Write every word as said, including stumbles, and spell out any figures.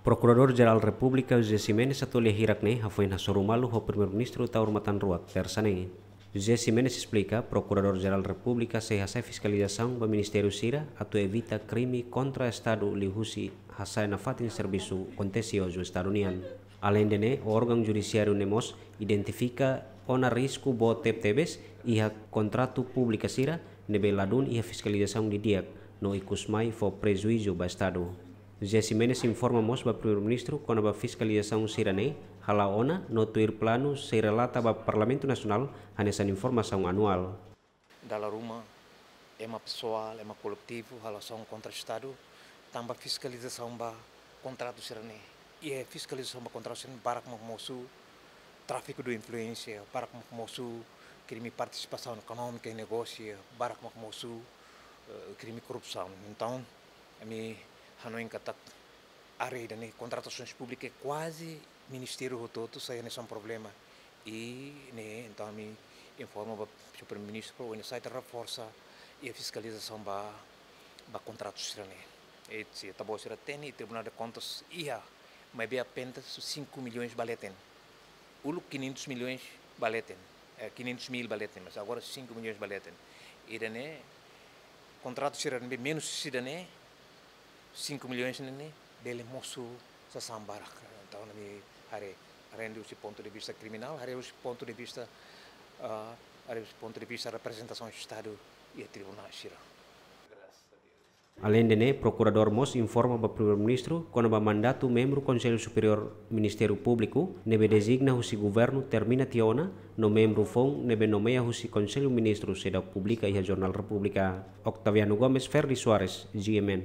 Prokuradór-Jerál Repúblika José Ximenes atu lia hirak ne'e hafoin hasoru malu ho Primeiru-Ministru Taur Matan Ruak, Tersa ne'e. José Ximenes esplika, Prokuradór-Jerál Repúblika sei hasa'e fiskalizasaun ba ministériu sira atu evita krime kontra Estadu liuhusi hasa'e nafatin servisu kontesi ho Estadu nian. Aleinde ne'e, órgaun judisiáriu ne'e mós identifika ona risku boot tebetebes iha kontratu públika sira ne'ebé ladún iha fiskalizasaun didi'ak no ikusmai fó prejuízu ba Estadu. José Ximenes informa mós ba Primeiru-Ministru kona-ba fiskalizasaun sira-ne'e hala'o ona no tuir planu sei relata ba Parlamentu Nasionál hanesan informasaun anuál. Dala ruma, ema pesoál, ema koletivu halo asaun kontra Estadu, tanba fiskalizasaun ba kontratu sira-ne'e. I fiskalizasaun ba kontratu sira-ne'e barak mak mosu tráfiku de influénsia, barak mak mosu krime partisipasaun ekonómika iha negósiu, barak mak mosu, eh, krime korrupsaun. Entaun, ami hanoin katak área ida-ne'e, kontratasoens públikas, kuaze ministériu hotu-hotu sai hanesan problema. I ne'e, entaun, ami informa ba Primeiru-Ministru para oinsá ita reforsa iha fiskalizasaun ba, ba kontratu sira-ne'e. I se ita-boot sira hatene, Tribunál de Contas iha, maibé apenas cinco milhões ba leten. Uluk quinhentos milhões ba leten, eh, quinhentos mil ba leten, mas agora cinco milhões ba leten. Ida-ne'e, kontratu sira ne'ebé menus husi ida-ne'e, cinco milhões ne'e, ne'e bele mosu sasán barak. Entaun, ami haree, aleinde husi pontu de vista kriminál, haree husi pontu de vista, ah, haree husi pontu de vista reprezentasaun Estadu iha tribunál sira. Aleinde ne'e, Prokuradór mós informa ba Primeiru-Ministru kona-ba mandatu membru Konsellu Superiór Ministériu Públiku ne'ebé dezigna husi governu termina tiha ona, no membru foun ne'ebé nomeia husi Konsellu Ministru seidauk publika iha Jornál Repúblika. Octaviano Gomes, Ferdi Soares, G M N.